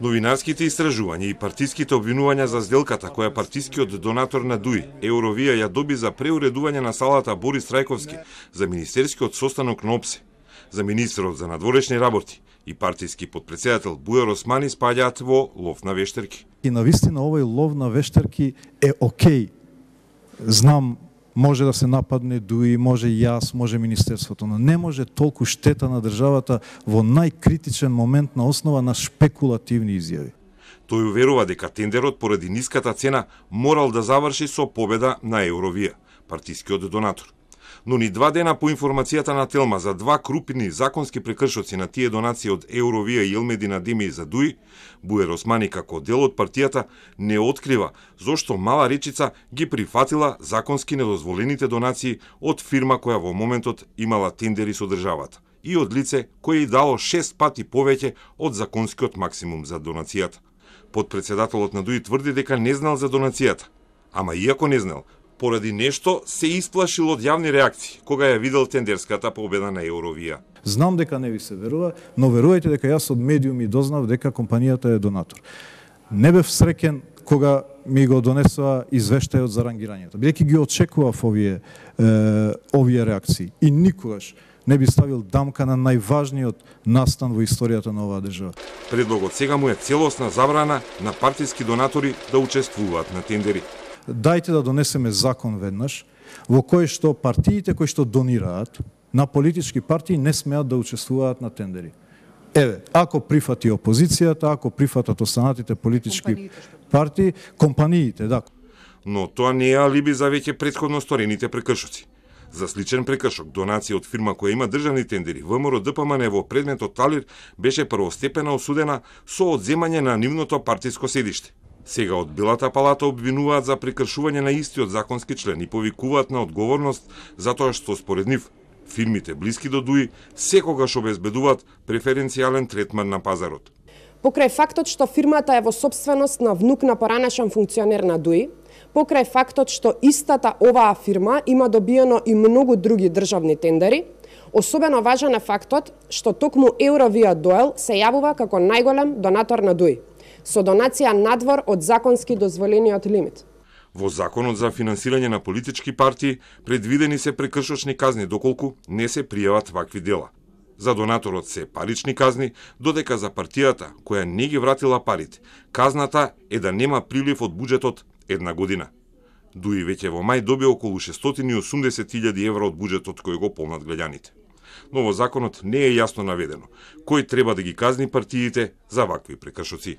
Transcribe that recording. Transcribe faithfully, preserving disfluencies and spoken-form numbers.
Новинарските истражувања и партиските обвинувања за сделката која партискиот донатор на ДУИ, Евровија, ја доби за преуредување на салата Борис Трајковски за министерскиот состанок на ОПСЕ, за министерот за надворешни работи и партиски подпредседател Бујар Османи спаѓаат во лов на вештерки. И навистина овој лов на вештерки е окей. Знам, може да се нападне ДУИ, може јас, може министерството, но не може толку штета на државата во најкритичен момент на основа на шпекулативни изјави. Тој уверува дека тендерот поради ниската цена морал да заврши со победа на Евровија, партискиот донатор. Но ни два дена по информацијата на Телма за два крупни законски прекршоци на тие донации од Евровија и Елмедина Деми за ДУИ, Бујар Османи како дел од партијата не открива зошто Мала Речица ги прифатила законски недозволените донации од фирма која во моментот имала тендери со државата и од лице кој и дало шест пати повеќе од законскиот максимум за донацијата. Подпредседателот на ДУИ тврди дека не знал за донацијата, ама иако не знал, поради нешто се исплашил од јавни реакции кога ја видел тендерската победа на Евровија. Знам дека не ви се верува, но верувајте дека јас од медиуми дознав дека компанијата е донатор. Не бев среќен кога ми го донесува извештајот за рангирањето, бидејќи ги очекував овие е, овие реакции и никогаш не би ставил дамка на најважниот настан во историјата на оваа држава. Предлогот сега му е целосна забрана на партиски донатори да учествуваат на тендери. Дајте да донесеме закон веднаш во кој што партиите кои што донираат на политички партии не смеат да учествуваат на тендери. Еве, ако прифати опозицијата, ако прифатат останатите политички компаниите, партии, компаниите, да. Но тоа не е алиби за веќе претходно сторените прекршоци. За сличен прекршок, донација од фирма која има државни тендери, ВМРО Д П М Н во предметот Талир беше првостепена осудена со одземање на нивното партиско седиште. Сега од Белата палата обвинуваат за прекршување на истиот законски член и повикуваат на одговорност затоа што според нив фирмите блиски до ДУИ секогаш обезбедуваат преференцијален третман на пазарот. Покрај фактот што фирмата е во сопственост на внук на поранешен функционер на ДУИ, покрај фактот што истата оваа фирма има добиено и многу други државни тендери, особено важен е фактот што токму Евровија Доел се јавува како најголем донатор на ДУИ, со донација надвор од законски дозволениот лимит. Во Законот за финансирање на политички партии предвидени се прекршочни казни доколку не се пријават вакви дела. За донаторот се парични казни, додека за партијата која не ги вратила парите, казната е да нема прилив од буџетот една година. ДУИ веќе во мај доби околу шестстотини и осумдесет илјади евра од буџетот кој го полнат граѓаните. Но во законот не е јасно наведено кој треба да ги казни партиите за вакви прекршоци.